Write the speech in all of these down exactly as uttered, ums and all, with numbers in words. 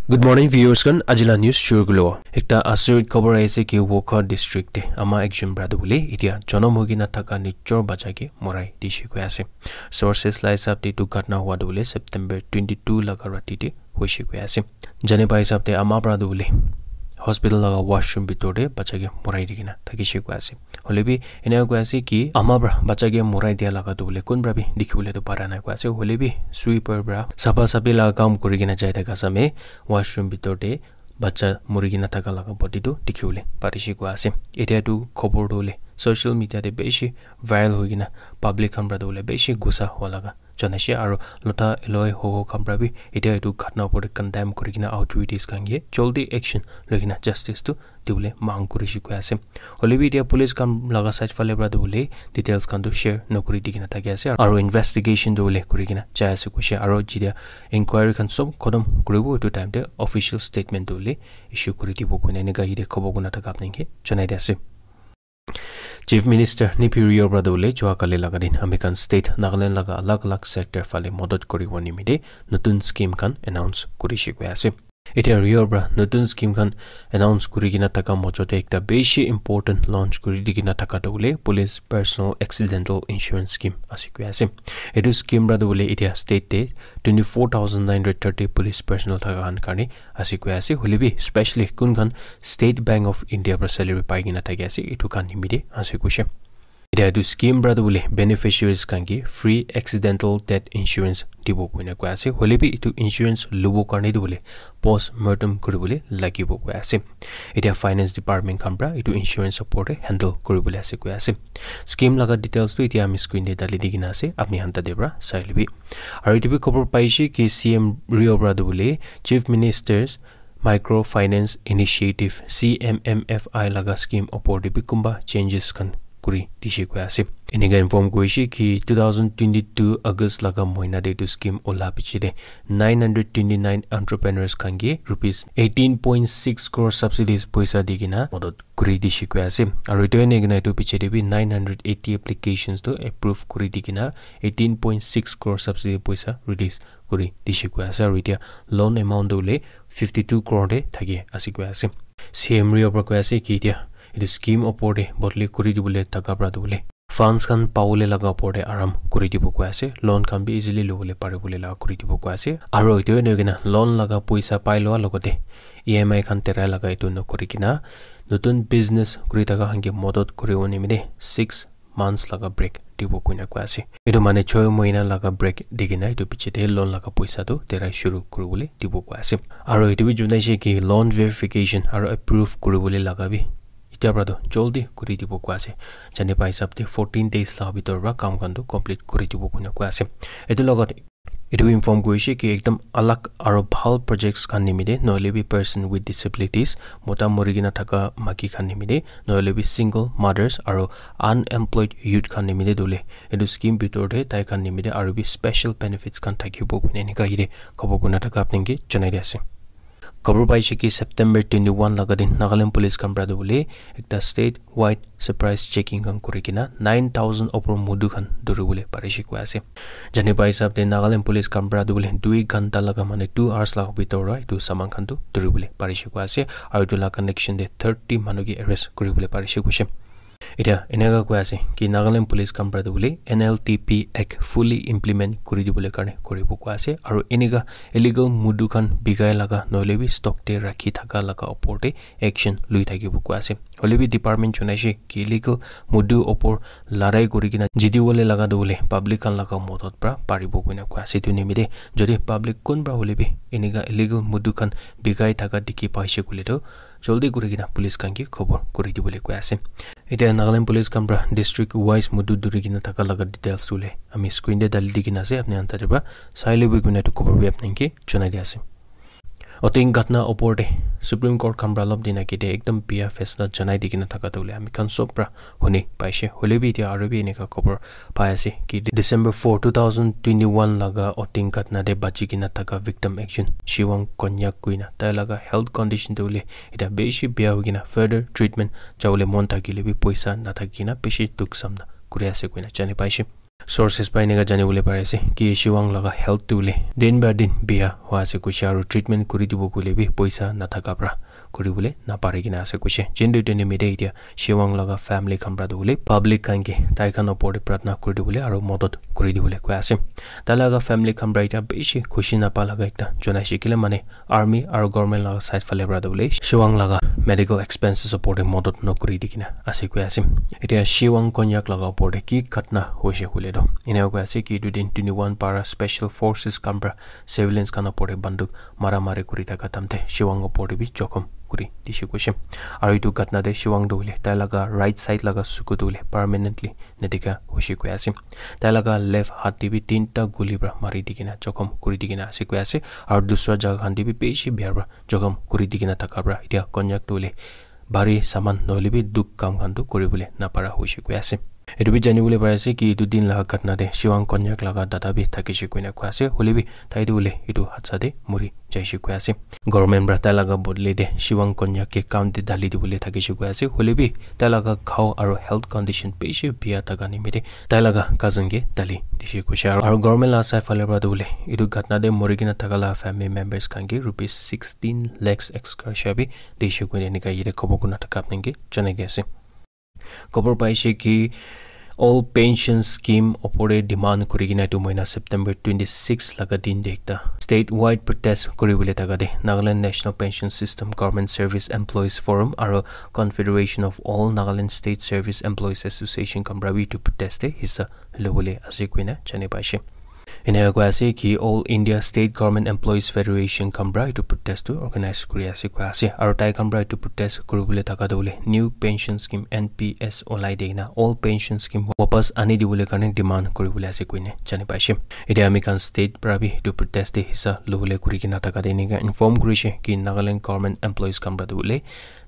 Good morning, viewers khan. Ajila news shuru kulo. Ekta asurit khobor aise ki Wokha district te ama ekjon brother bole itia jonom hoi kena thaka nijor bacha ke morai dishe koi ase. Sources la hisab te etu ghatna hua tu bole September twenty-two laga rati te hoishe koi ase. Jane pai hisab te ama brother bole hospital laga washroom bitor te bacha ke morai di kena thakishe koi ase. Hoile bi ena koi ase ki ama pra bacha ke morai dia laga tu bole kun pra bi dikhi bole tu para nai koi ase. Hoile bi sweeper pra sapa sapi laga kam kuri kena jai thaka same washroom bitor te bacha muri kena thaka laga body tu dikhi bole parishe koi ase. Etia tu khobor tu bole social media te bishi viral hoi kena public khan pra tu bole bishi gusa hua laga janaishe aro lota eloi hoho khan pra bi etia etu ghatna opor te condemn kuri kena authorities khan ke joldi action loi kena justice tu dibole mang kurishe koi ase. Hoile bi etia police khan laga side phale pra tu bole details khan tu share nokuri di kena thaki ase aro investigation tu bole kuri kena jai ase koishe aro jetia inquiry khan sob khotom kuribo etu time te official statement tu bole issue kuri dibo koina enika yate khobor kuna thaka apni ke janai di ase. Chief Minister Neiphiu Rio pra tu bole jua kali laga din ami khan state Nagaland laga alag alag sector phale modot kuribo nimite notun scheme khan announce kurishe koi ase. Etia Rio pra notun scheme khan announce kuri kena thaka mojo te ekta bishi important launch kuri di kena thaka tu bole police personal accidental insurance scheme ase koi ase. Etu scheme pra tu bole etia state te twenty-four thousand nine hundred thirty police personnel thaka khan karne ase koi ase. Hoile bi specially kun khan State Bank of India pra salary pai kena thaki ase etu khan nimite ase koishe. Etia etu scheme pra tu bole beneficiaries khan ke free accidental death insurance dibo koina koi ase. Hoile bi etu insurance lobo karne tu bole post mortem kuri bole lagibo koi ase. Etia finance department khan pra etu insurance opor te handle kuri bole ase koi ase. Scheme laga details tu etia ami screen te dali di kena ase, apni khan tate pra sai lobi. Aro etu bi khobor paishe ki C M Rio pra tu bole Chief Minister's Microfinance Initiative, C M M F I laga scheme opor te bi kunba changes khan kuri dishe koi ase. Enika inform kurishe ki two thousand twenty-two August laga moina te etu scheme ola piche te nine hundred twenty-nine entrepreneurs khan ke rupees eighteen point six crore subsidies poisa di kena modot kuri dishe koi ase. Aro etu ene kena etu piche te bi nine hundred eighty applications tu approve kuri di kena eighteen point six crore subsidy poisa release kuri dishe koi ase. Aro etia loan amount tu hoile fifty two crore te thaki ase koi ase. C M Rio pra koi ase ki etia etu scheme opor te bodli kuri dibole thaka pra tu bole funds khan pabole laga opor te aram kuri dibo koi ase. Loan khan bi easily lobole pari bole laga kuri dibo koi ase. Aro etu ene kena loan laga poisa pai loa logote E M I khan terai laga etu nokuri kena notun business kuri thaka khan ke modot kuri bole nimite six months laga break dibo koina koi ase. Etu mane choi mohina laga break di kena etu piche te loan laga poisa tu terai shuru kuri bole dibo koi ase. Aro etu bi janaishe ki loan verification aro approve kuri bole laga bi etia pra tu joldi kuri dibo koi ase. Jane pai hisab te fourteen days laga bitor pra kam khan tu complete kuri dibo koina koi ase. Etu logot etu bi inform kurishe ki ekdam alag aro bhal projects khan nimite nohoile bi person with disabilities, mota muri kena thaka maiki khan nimite nohoile bi single mothers aro unemployed youth khan nimite tu hoile etu scheme bitor te tai khan nimite aro bi special benefits khan thakibo koina enika yate khobor kuna thaka apni ke janai di ase. Khobor paishe ki September twenty-one laga din Nagaland police khan pra tu bole ekta state wide surprise checking khan kuri kena nine thousand opor mudu khan dhuri bole parishe koi ase. Jane pai hisab te Nagaland police khan pra tu bole dui ghanta laga mane two hours laga bitor pra etu saman khan tu dhuri bole parishe koi ase. Aro etu laga connection te thirty manu ke arrest kuri bole parishe koishe. Etia eneka koi ase ki Nagaland police khan pra tu bole N L T P Act fully implement kuri dibole karne kuribo koi ase. Aro eneka illegal mudu khan bikai laga nohoile bi stock te rakhi thaka laga opor te action lui thakibo koi ase. Hoile bi department janaishe ki illegal mudu opor larai kuri kena jiti bole laga tu bole public khan laga modot pra paribo koina koi ase. Etu nimite jodi public kunba hoile bi eneka illegal mudu khan bikai thaka dikhi paishe koile tu joldi kuri kena police khan ke khobor kuri dibole koi ase. Etia Nagaland police khan pra district wise mudu dhuri kena thaka laga details tu hoile ami screen te dali di kena ase, apni khan tate pra sai lobi koina etu khobor bi apni ke janai di ase. Oting ghatna opor te Supreme Court khan pra olop din age te ekdam bia faisla janai di kena thaka tu hoile ami khan sob pra huni paishe. Hoile bi etia aro bi eneka khobor pai ase ki December four, two thousand twenty-one laga Oting ghatna te bachi kena thaka victim ekjon Shiwang Konyak koina tai laga health condition tu hoile etia bishi bia hoi kena further treatment jabole mon thakile bi poisa nathaki kena bishi dukh samna kuri ase koina jani paishe. Sources para eneka jani bole pari ase ki Shivang laga health tu le din ba din bia hua ase kuishe aru treatment kuri dibo koile bi poisa nathaka pra kuri bole napari kena ase kuishe. Jindu tene mide itia Shivang laga family khan pra tu bole public khan ke tai khan opor te pratna kuri dibole aru modot kuri dibole koi ase. Tai laga family khan pra itia bishi khushi napa laga ekta jonai shikile mane army aru government laga side phale pra tu bole Shivang laga medical expenses opor te modot no kuri di kena ase koi ase. Itia Shivang Konyak laga opor te ki ghatna hoishe koile to ena koi ase ki etu din twenty one para special forces khan pra civilians khan opor te banduk mara mari kuri thaka time te Shivang opor te bi jokhom kuri dishe koishe. Aru etu ghatna te Shivang tu hoile tai laga right side laga suku tu hoile permanently nadikha hoishe koi ase. Tai laga left hat te bi tinta guli pra mari di kena jokhom kuri di kena ase koi ase. Aru dusra jaga khan te bi bishi bia pra jokhom kuri di kena thaka pra itia Konyak tu hoile bhari saman nohoile bi duk kam khan tu kuri bole napara hoishe koi ase. Etu bi jani bole pari ase ki etu din laga ghatna te Shivang Konyak laga dada bi thakishe koina koi ase. Hoile bi tai tu hoile etu hadsa te muri jaishe koi ase. Government pra tai laga bodole te Shivang Konyak ke kam te dali dibole thakishe koi ase. Hoile bi tai laga ghao aru health condition bishi bia thaka nimite tai laga cousin ke dali dishe koishe. Aru, aru government laga side phale pra tu hoile etu ghatna te mori kena thaka laga family members khan ke rupees sixteen lakhs ex gratia bi dishe koina enika yate khobor kurna thaka apni ke jonai di ase. Khobor paishe ki all pension scheme opor te demand kuri kena etu mohina September twenty six laga din te ekta statewide protest kuri bole thaka te Nagaland National Pension System Government Service Employees Forum aru Confederation of All Nagaland State Service Employees Association khan pra bi etu protest te hissa lobole ase koina jani paishe. Eneka koi ase ki All India State Government Employees Federation khan pra etu protest tu organize kuri ase koi ase. Aru tai khan pra etu protest kuri bole thaka tu hoile new pension scheme N P S olai de na all pension scheme wapas ani dibole karne demand kuri bole ase koine jani paishe. Etia ami khan state pra bi etu protest te hissa lobole kuri kena thaka te enika inform kurishe ki Nagaland government employees khan pra tu hoile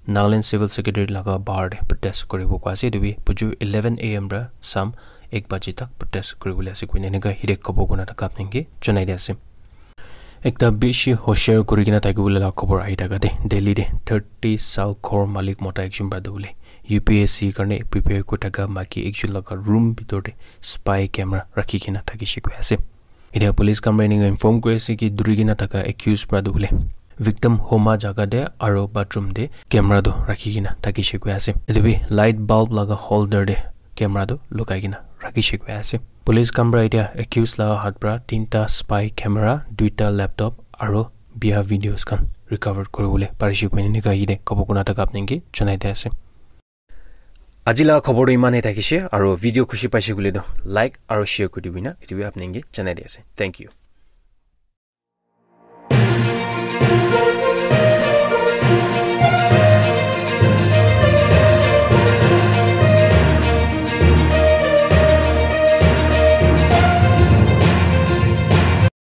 Nagaland Civil Secretariat laga bahar te protest kuribo koi ase. Etu bi buju eleven A M pra sam ek baji tak protest kuri bole ase koine enika hide khobor kurna thaka apni ke jonai di ase. Ekta bishi hoshiar kuri kena thaki bole la khobor ahi thaka te Delhi te thirty sal ghor malik mota ekjon pra tu hoile U P S C karne prepare kuri thaka maki ekjon laga room bitor te spy camera rakhi kena thakishe koi ase. Etia police khan pra enika inform kuri ase ki duri kena thaka accused pra tu hoile victim homa jaga te aro bathroom te camera tu rakhi kena thakishe koi ase. Etu bi light bulb laga holder te camera tu lukai kena rakhishe koi ase. Police khan pra etia accused laga hat pra tinta spy camera, duita laptop aro bia videos khan recover kuri bole parishe koine enika yate khobor kurna thaka apni ke jonai di ase. Aji laga khobor tu iman e thakishe, aro video khushi paishe koile tu like aro share kuri dibi na, etu bi apni ke janai di ase. Thank you.